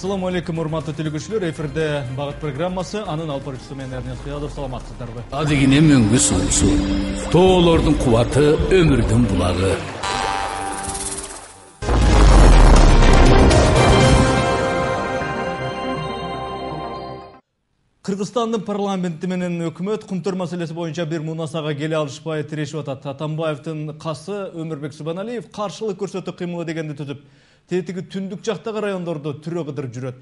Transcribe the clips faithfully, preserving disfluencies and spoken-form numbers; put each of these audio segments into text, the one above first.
Assalamu alaikum, урматтуу телекөрүүчүлөр. Эфирде багыт программасы, анын алып баруучусу мен Эрнес Кыялов. Саламатсыздарбы? Адегине мөңгү суусу, тоолордун кубаты, өмүрдүн булагы. Кыргызстандын парламенти менен өкмөт кумтөр маселеси боюнча бир мунасага келе алышпай тирешип атат. Атамбаевдин касы Өмүрбек Субаналиев каршылык көрсөтүү кыймылы дегенди түзүп, тетиги түндүк жактагы райондордо түрө кыдырып жүрөт.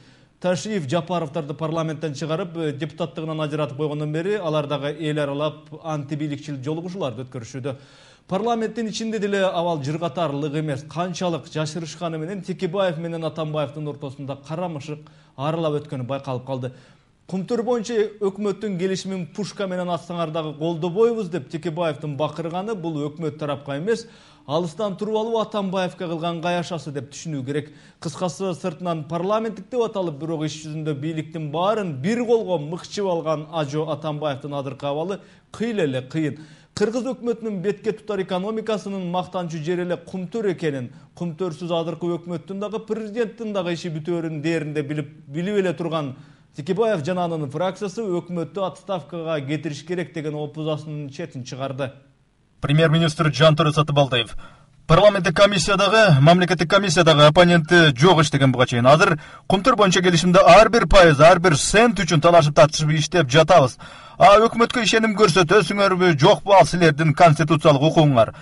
Ташиев Жапаровдарды парламенттен чыгарып, депутаттыгынан ажыратып койгондон бери алар дагы эл аралап антибийликчил жолугушууларды өткөрүшүүдө. Парламенттин ичинде деле абал жыргатарлык эмес, канчалык жашырышканы менен Текебаев менен Атамбаевдин ортосунда карамышык аралап өткөнү байкалып калды. Кумтөр боюнча өкмөттүн келишимин пушка менен атсаңар дагы колдобойбуз деп Текебаевдин бакырганы бул өкмөт тарапка эмес, алыстан туруп алуу Атамбаевге кылган каяшасы деп түшүнүү керек. Кыскасы, сыртынан парламенттик деп аталып, бирок иш жүзүндө бийликтин баарын бир колго мыкчып алган Ажо Атамбаевдин азыркы абалы кыйла эле кыйын. Кыргыз өкмөтүнүн бетке тутар экономикасынын мактанчу жери эле Кумтөр экенин, Кумтөрсүз азыркы өкмөттүн дагы президенттин дагы иши бүтөөрүн дээринде билип билип эле турган Текебаев жана анын фракциясы өкмөттү отставкага кетириш керек деген опузасынын четин чыгарды. Премьер-министр Жантөре Сатыбалдиев парламенттик комиссиядагы, мамлекеттик комиссиядагы оппоненти жок иш деген буга чейин. Азыр Кумтөр боюнча келишимде ар бир пайыз, ар бир цент үчүн талашып тартышып иштеп жатабыз. А өкмөткө ишеним көрсөтөсүңөрбү, жокпу, ал силердин конституциялык укугуңар.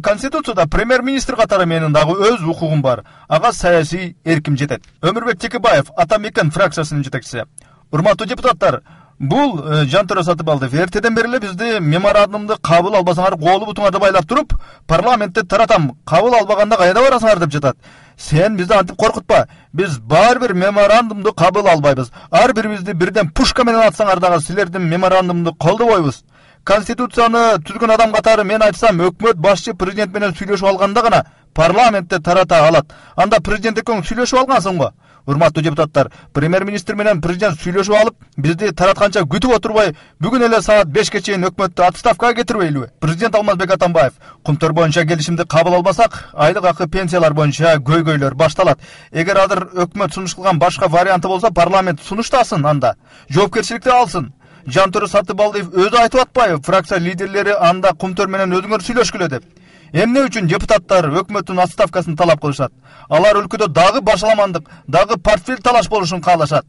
Конституцияда премьер-министр катары менин дагы өз укугум бар. Ага саясий эрким жетет. Өмүрбек Текебаев, Атамекен фракциясынын жетекчиси. Урматтуу депутаттар, бул Жантөре Сатыбалдиев эртеден бери эле бизди меморандумду кабыл албасаңар колу бутуңарды байлап туруп, парламентте таратам, кабыл албаганда кайда барасыңар деп жатат. Сен бизди антип коркутпа. Биз бар бир меморандумду кабыл албайбыз. Ар бирибизди бирден пушка менен атсаңар дагы силердин меморандумду колдобойбуз. Конституцияны түзгөн адам катары мен айтсам, өкмөт башчы президент менен сүйлөшүп алганда гана парламентте тарата алат. Анда президент экөөң сүйлөшүп алгансың го. Урматтуу депутаттар, премьер-министр менен президент сүйлөшүп алып, бизди таратканча күтүп отурбай, бүгүн эле саат бешке чейин өкмөттү отставкага кетирбейлиби? Президент Алмазбек Атамбаев, Кумтөр боюнча келишимди кабыл албасак, айлык акы, пенсиялар боюнча көйгөйлөр башталат. Эгер азыр өкмөт сунуш кылган башка варианты болсо, парламент сунуштасын анда. Жоопкерчиликти алсын. Жантөре Сатыбалдиев өзү айтып атпайбы, фракция лидерлери анда Кумтөр менен өзүңөр сүйлөшкүлө деп. Эмне үчүн депутаттар өкмөттүн отставкасын талап кылышат? Алар өлкөдө дагы башаламандык, дагы портфель талаш болушун каалашат.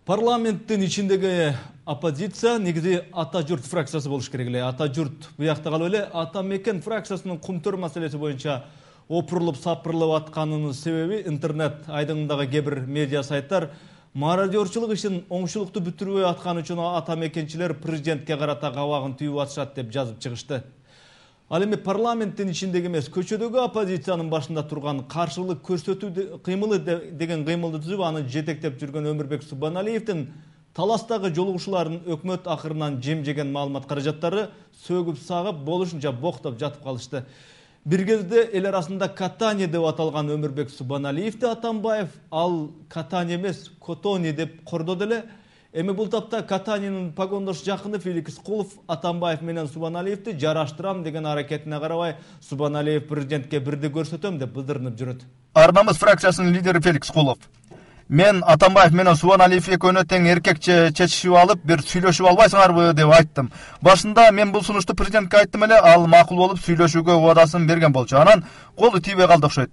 Парламенттин ичиндеги оппозиция негизи Ата журт фракциясы болуш керек эле. Ата журт буякта калып эле Атамекен фракциясынын Кумтөр маселеси боюнча опурулуп сапырылып атканынын себеби интернет айдыңындагы кээ бир медиа сайттар мародерчилик ишин оңчулуктуу бүтүрбөй атканы үчүн атамекенчилер президентке карата кабагын түйүп атышат деп жазып чыгышты. Ал эми парламенттин ичиндеги эмес, көчөдөгү оппозициянын башында турган каршылык көрсөтүү кыймылы деген кыймылды түзүп, аны жетектеп жүргөн Өмүрбек Субаналиевдин таластагы жолугушууларын өкмөт акырынан жем жеген маалымат каражаттары сөгүп сагып болушунча боктоп жатып калышты. Бир кезде эл арасында катание деп аталган Өмүрбек Субаналиевди Атамбаев ал катание эмес, котони деп кордоду эле. Эми бул тапта катаниянын погондош жакыны Феликс Кулов Атамбаев менен Субаналиевди жараштырам деген аракетине карабай, Субаналиев президентке бирди көрсөтөм деп былдырынып жүрөт. Арнамыз фракциясынын лидери Феликс Кулов: мен Атамбаев менен Субаналиев экөөнө тең эркекче чечишип алып, бир сүйлөшүп албайсыңарбы деп айттым. Башында мен бул сунушту президентке айттым эле, ал макул болуп сүйлөшүүгө убадасын берген болчу. Анан колу тийбей калды окшойт.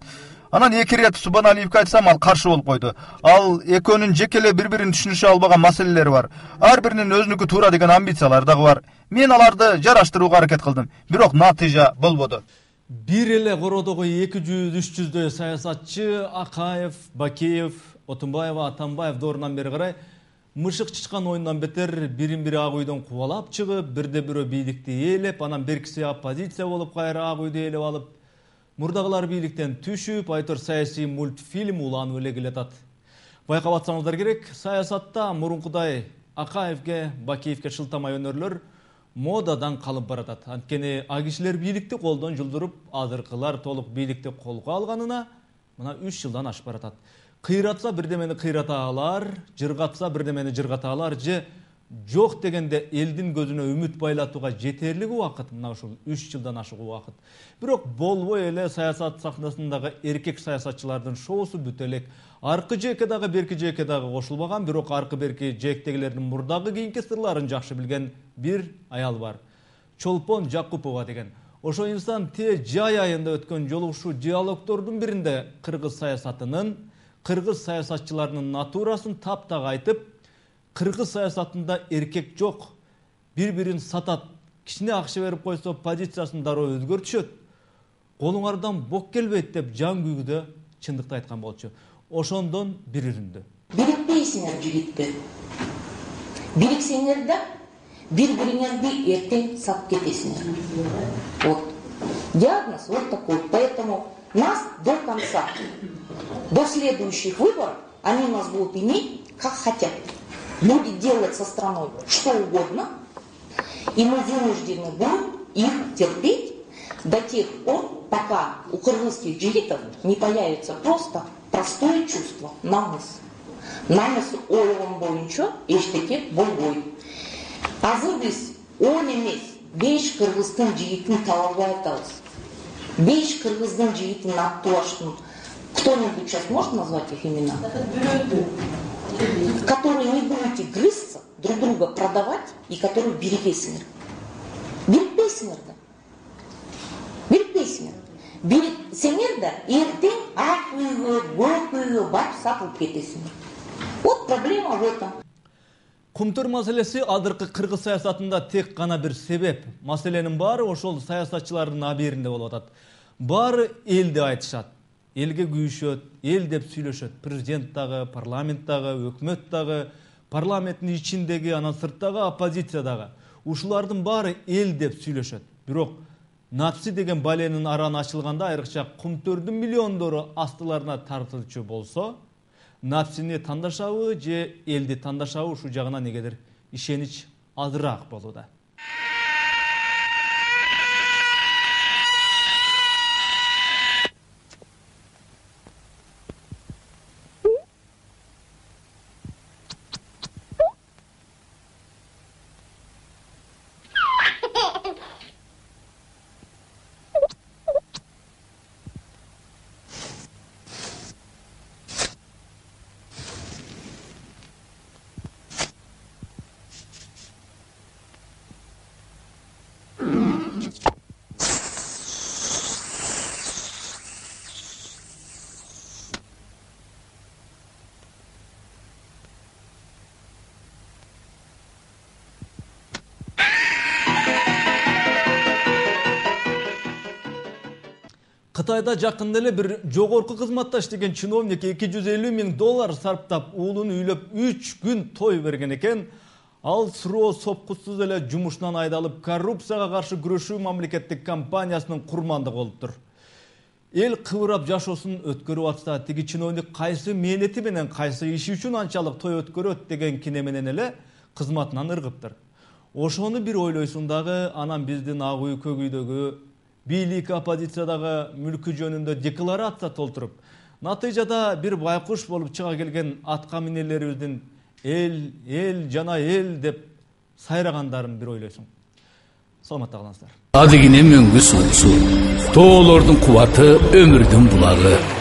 Анан эки ирет Субаналиевке айтсам, ал каршы болуп койду. Ал экөөнүн жеке эле бири-бирин түшүнүшө албаган маселелери бар. Ар биринин өзүнүкү туура деген амбициялары дагы бар. Мен аларды жараштырууга аракет кылдым, бирок натыйжа болбоду. Бир эле кородогу эки жүз үч жүздөй саясатчы Акаев, Бакеев, Отунбаева, Атамбаев доорунан бери карай мышык чычкан оюндан бетер бирин-бири ак үйдөн кубалап чыгып, бирде бирөө бийликти ээлеп, анан беркиси оппозиция болуп кайра ак үйдү ээлеп алып, мурдагылар бийликтен түшүп, айтор саясий мультфильм уланып эле келатат. Байкап атсаңыздар керек, саясатта мурункудай Акаевге, Бакеевке шылтамай өнөрлөр модадан калып баратат. Анткени а кишилер бийликти колдон жулдуруп, азыркылар толук бийликти колго алганына мына үч жылдан ашып баратат. Кыйратса бирдемени кыйрата алар, жыргатса бирдемени жыргата алар же жок дегенде элдин көзүнө үмүт байлатууга жетерлик убакыт мына ушул үч жылдан ашык убакыт. Бирок болбой эле саясат сахнасындагы эркек саясатчылардын шоусу бүтө элек. Аркы жээкке дагы берки жээкке дагы кошулбаган, бирок аркы берки жээктегилердин мурдагы кийинки сырларын жакшы билген бир аял бар. Чолпон Жакупова деген. Ошо инсан те жай айында өткөн жолугушуу диалогдордун биринде кыргыз саясатынын, кыргыз саясатчыларынын натурасын таптак айтып, кыргыз саясатында эркек жок, бири-бирин сатат, кичине акча берип койсо позициясын дароо өзгөртүшөт, колуңардан бок келбейт деп жан күйгүдө чындыкты айткан болчу. Ошондон бир үрүндү. Бирикпейсиңер жигиттер. Бириксеңер да бири-бириңерди эртең сатып кетесиңер. Вот. Диагноз вот такой. Поэтому нас до конца, до следующих выборов, они нас будут иметь как хотят. Люди делать со страной что угодно, и мы вынуждены будем их терпеть до тех пор, пока у кыргызских джигитов не появится просто простое чувство, намыс. Намыс ойлон боюнча эчтеке болбойт. Азыр биз он эмес беш кыргыздын жигитин таба албай атабыз. Беш кыргыздын жигитин аттыбаштын. Кто-нибудь сейчас может назвать их имена? Которые не будете грызться, друг друга продавать, и которые бирикпейсиңер. Бирикпейсиңер да. Бирикпейсиңер. Бириксеңер да эртең ак үйгө, көк үйгө барып сатылып кетесиңер. Вот проблема в этом. Кумтур маселеси азыркы кыргыз саясатында тек гана бир себеп. Маселенин баары ошол саясатчылардын абийиринде болуп атат. Баары элди айтышат. Элге күйүшөт, эл деп сүйлөшөт. Президент дагы, парламент дагы, өкмөт дагы, парламенттин ичиндеги, анан сырттагы оппозиция дагы. Ушулардын баары эл деп сүйлөшөт. Бирок напси деген баленин араны ачылганда, айрыкча кумтөрдүн миллиондору астыларына тартылчу болсо, напсини тандашабы же элди тандашабы ушул жагына негедир ишенич азыраак болууда. Кытайда жакында эле бир жогорку кызматта иштеген чиновник эки жүз элүү миң доллар сарптап уулун үйлөп үч күн той берген экен. Ал суроо сопкусуз эле жумушунан айдалып, коррупцияга каршы күрөшүү мамлекеттик компаниясынын курмандыгы болуптур. Эл кыбырап жашоосун өткөрүп атса, тиги чиновник кайсы мээнети менен, кайсы иши үчүн анчалык той өткөрөт деген кине менен эле кызматынан ыргыптыр. Ошону бир ойлойсуң дагы, анан биздин ак үй, көк үйдөгү бийлик оппозициядагы мүлкү жөнүндө декларация толтуруп, натыйжада бир байкуш болуп чыга келген атка минелерибиздин эл, эл жана эл деп сайрагандарын бир ойлойсуң. Саламатта калыңыздар. Адыгине мөңгү суусу, тоолордун кубаты, өмүрдүн булагы.